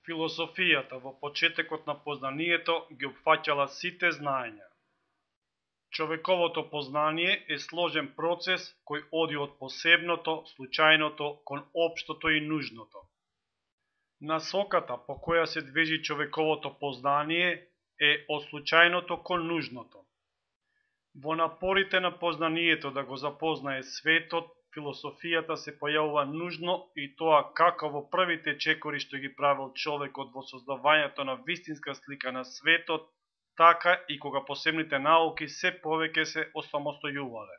Философијата во почетокот на познанието ги опфаќала сите знаења. Човековото познание е сложен процес кој оди од посебното, случајното кон општото и нужното. Насоката по која се движи човековото познание е од случајното кон нужното. Во напорите на познанието да го запознае светот, философијата се појавува нужно и тоа како во првите чекори што ги правил човекот во создавањето на вистинска слика на светот, така и кога посебните науки се повеќе се осамостојувале.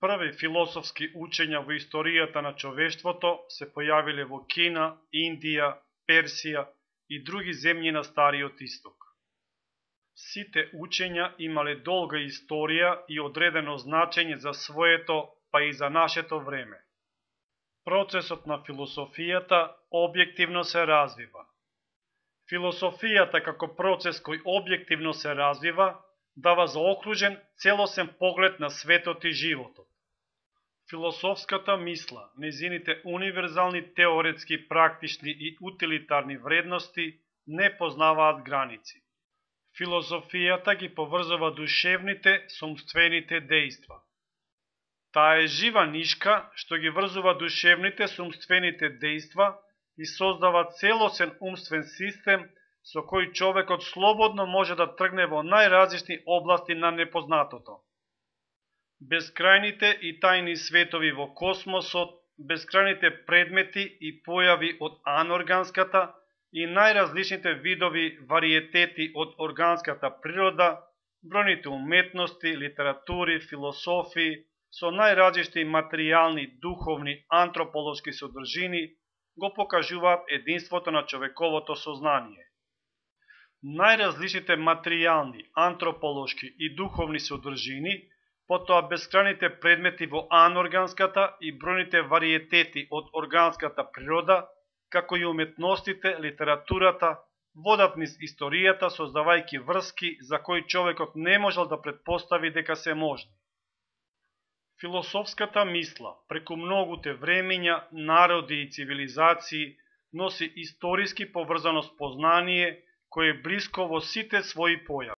Први философски учења во историјата на човештвото се појавиле во Кина, Индија, Персија и други земји на Стариот Исток. Сите учења имале долга историја и одредено значење за своето, па и за нашето време. Процесот на философијата објективно се развива. Философијата како процес кој објективно се развива, дава заокружен, целосен поглед на светот и животот. Философската мисла, незините универзални теоретски, практични и утилитарни вредности не познаваат граници. Философијата ги поврзува душевните со умствените дејства. Таа е жива нишка што ги врзува душевните со умствените дејства и создава целосен умствен систем со кој човекот слободно може да тргне во најразлични области на непознатото. Бескрајните и тајни светови во космосот, бескрајните предмети и појави од анорганската и најразличните видови вариетети од органската природа, бројните уметности, литератури, философии, со најразлични материјални, духовни, антрополошки содржини, го покажуваат единството на човековото сознание. Најразличните материјални, антрополошки и духовни содржини, потоа бескрајните предмети во анорганската и бројните вариетети од органската природа, како и уметностите, литературата, водат низ историјата создавајќи врски за кои човекот не можел да претпостави дека се можни. Философската мисла, преку многуте времења, народи и цивилизации, носи историски поврзано спознание, кое е блиско во сите своји појави.